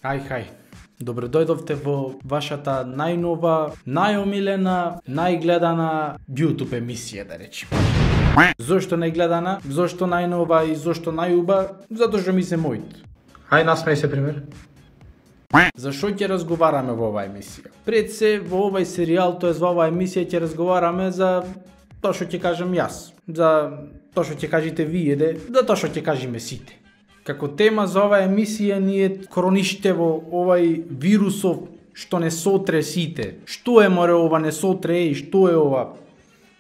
Хај. Добро дојдовте во вашата најнова, најомилена, најгледана YouTube емисија, да речем. Зошто најгледана, зошто најнова и зошто најуба? Затоа што ми се мојот. Хај насмеј се пример. За што ќе разговараме во оваа емисија? Пред се во овај серијал, тоест во оваа емисија ќе разговараме за тоа што ќе кажам јас, за тоа што ќе кажете вие, за тоа што ќе кажеме сите. Како тема за оваа емисија ни е корониште во овај вирусов што не сотре сите. Што е море ова не сотре и што е ова?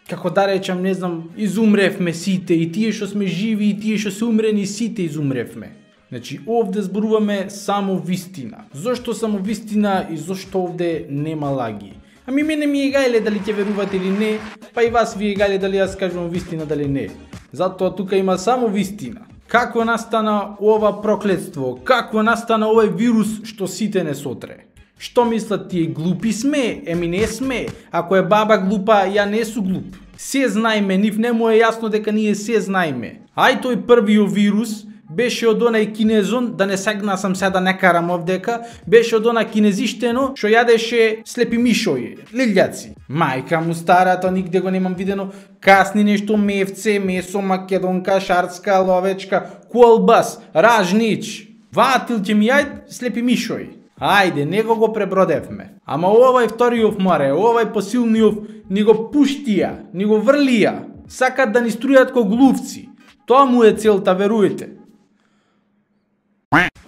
Како да речам, не знам, изумревме сите и тие што сме живи и тие што се умрени сите изумревме. Значи, овде зборуваме само вистина. Зошто само вистина и зошто овде нема лаги? Ами мене ми е гајле дали ќе верувате или не, па и вас ви е гајле дали јас кажувам вистина дали не. Затоа тука има само вистина. Како настана ова проклетство? Како настана овој вирус што сите не сотре? Што мислат тие глупи сме? Еми не сме. Ако е баба глупа, ја не су глуп. Се знаеме, нив не му е јасно дека ние се знаеме. Ај тој првиот вирус беше од онај кинезон, да не сегна сам се да не карам овдека, беше од она кинезиштено што јадеше слепи мишои, лилјаци. Мајка му стара, то нигде го немам видено, касни нешто мевце, месо, македонка, шарцка, ловечка, колбас, ражнич, ватил ќе ми јајд слепи мишои. Ајде, него го пребродевме. Ама овај вториот море, овај посилниот ни го пуштија, ни го врлија, сакат да ни струјат ко глувци. Тоа му е целта, веруете.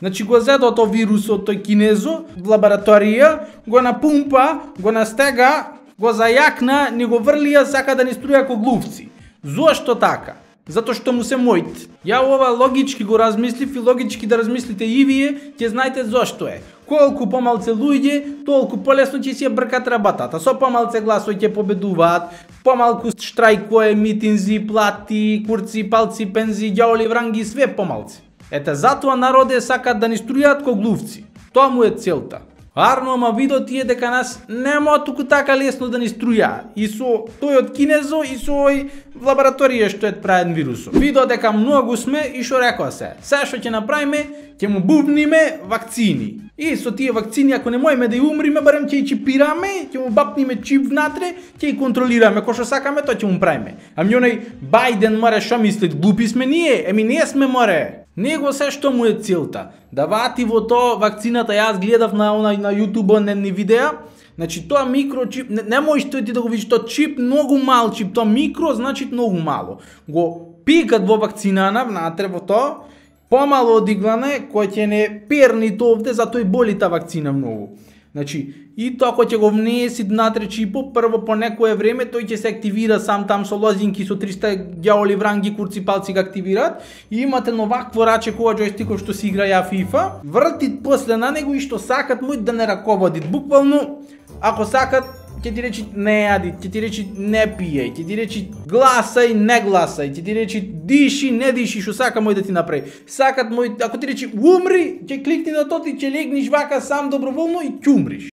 Значи го зедо тоа вирусот, тој кинезо, в лабораторија, го напумпа, го настега, го зајакна, ни го врлија, сака да ни струја ко глувци. Зошто така? Затоа што му се мојт. Ја ова логички го размислив и логички да размислите и вие, ќе знаете зошто е. Колку помалце луѓе, толку полесно ќе си ја бркат работата. Со помалце гласови ќе победуваат, помалку штрајкови, митинзи, плати, курци, палци, пензи, ѓаоли, вранги, све помалце. Ете, затоа народе сакат да ни струјат ко глувци. Тоа му е целта. Арно, ама видо тие дека нас нема туку така лесно да ни струја. И со тој од кинезо и со овој лабораторија што е правен вирусот. Видо дека многу сме и што рекоа се. Се што ќе направиме, ќе му бубниме вакцини. И со тие вакцини, ако не можеме да ја умриме, барем ќе ја чипираме, ќе му бапниме чип внатре, ќе ја контролираме. Кој што сакаме, тоа ќе му правиме. Ами оној Бајден море што мислит, глупи сме ние? Еми не сме море. Него се што му е целта. Да вати во тоа вакцината, јас гледав на YouTube нени видеа. Значи тоа микрочип, не можеш ти да го видиш, тоа чип многу мал чип, тоа микро значи многу мало. Го пикат во вакцинана внатре во тоа, помало одиглане, кој ќе не перни тоа овде, затоа и боли таа вакцина многу. Значи, и тоа кој ќе го внеси внатре чипо, прво по некое време тој ќе се активира сам там со лозинки, со 300 ѓаоли, вранги, курци, палци го активираат и имате новакво раче кога џојстиков што си играја FIFA, вртит после на него и што сакат мој да не раководит. Буквално, ако сакат, ќе ти речи не јади, ќе ти речи не пијај, ќе ти речи гласај, не гласај, ќе ти речи диши, не диши, што сака мој да ти направи. Сакат мој, ако ти речи умри, ќе кликни на тоа и ќе легнеш вака сам доброволно и ќе умриш.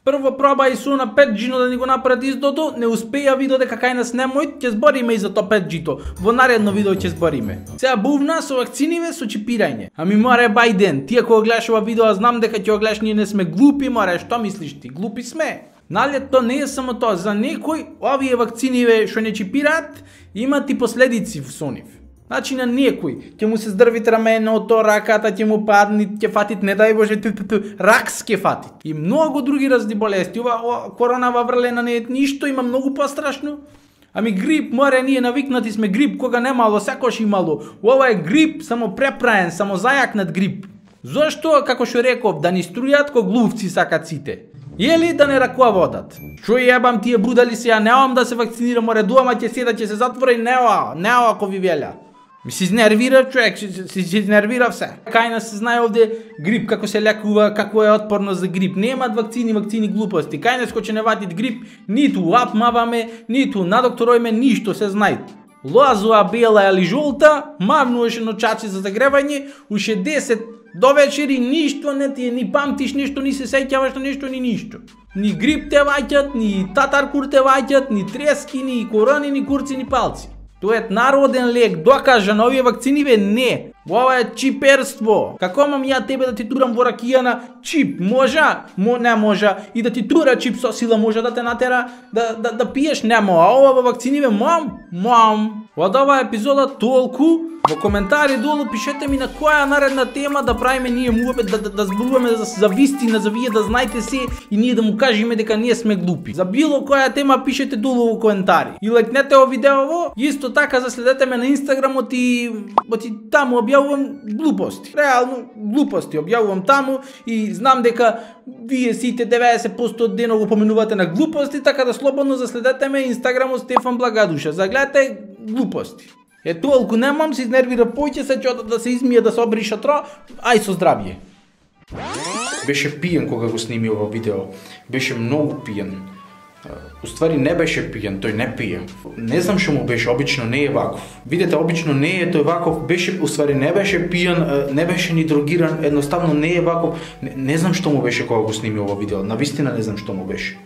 Прво пробај со на 5G да ни го направат издото, не успеја, видо дека кај нас немој, ќе збориме и за тоа 5G-то. Во наредно видео ќе збориме. Сега бувна со вакциниве, со чипирање. Ами море Бајден, тие кога гледаш ова видео, знам дека ќе го гледаш, ние не сме глупи, море, што мислиш ти? Глупи сме. Нали тоа не е само тоа, за некој овие вакциниве што не чипираат, имат и последици со нив. Значи на некој ќе му се здрвит раменото, раката ќе му падни, ќе фатит, не дај Боже, ракс ќе фатит. И многу други разни болести. Ова коронава врлена не е ништо, има многу пострашно. Ами грип, море, ние навикнати сме грип, кога немало, секош имало. Ова е грип, само препраен, само зајакнат грип. Зошто, како што реков, да ни струјат ко глувци сакат сите? Или да не раководат? Што јебам тие будали се, ја неам да се вакцинирам, море, дуама ќе седа, ќе се затвора и неа ако ви велја. Ми се изнервира човек, се изнервира все. Кај нас се знае овде грип, како се лекува, како е отпорност за грип. Немат вакцини глупости. Кај нас кој ќе не ватит грип, ниту апмаваме, ниту надокторојме, ништо се знае. Лозова, бела или жолта, мавнуваше ночачи за загревање, уше 10 до вечери ништо не ти ни памтиш ништо, ни се сеќаваш на ништо, ни ништо. Ни грип те ваќат, ни татаркур те ваќат, ни трески, ни корони, ни курци, ни палци. Тоа е народен лек, докажан, овие вакцини бе не. Ова е чиперство. Како мам ја тебе да ти турам во ракијана чип? Можа? Не можа. И да ти тура чип со сила може да те натера да пиеш? Нема. А ова во вакцини мам. Од оваа епизода толку. Во коментари долу пишете ми на која наредна тема да правиме ние муабет, да зборуваме за вистина, за вие да знаете се и ние да му кажеме дека ние сме глупи. За било која тема пишете долу во коментари. И лајкнете ово видеово, исто така заследете ме на Инстаграмот и таму објавувам глупости. Реално глупости објавувам таму и знам дека вие сите 90% од денот го поминувате на глупости, така да слободно заследете ме Инстаграмот Стефан Благадуша. Загледате глупости. Толку немам, се изнервира поќе, се ќе да се измие, да се обриша тро, ај со здравје. Беше пиен кога го сними ова видео. Беше многу пиен. Уствари не беше пиен, тој не пие. Не знам што му беше, обично не е ваков. Видете, обично не е тој ваков, беше, уствари не беше пиен, не беше ни дрогиран, едноставно не е ваков. Не знам што му беше кога го сними ова видео, навистина не знам што му беше.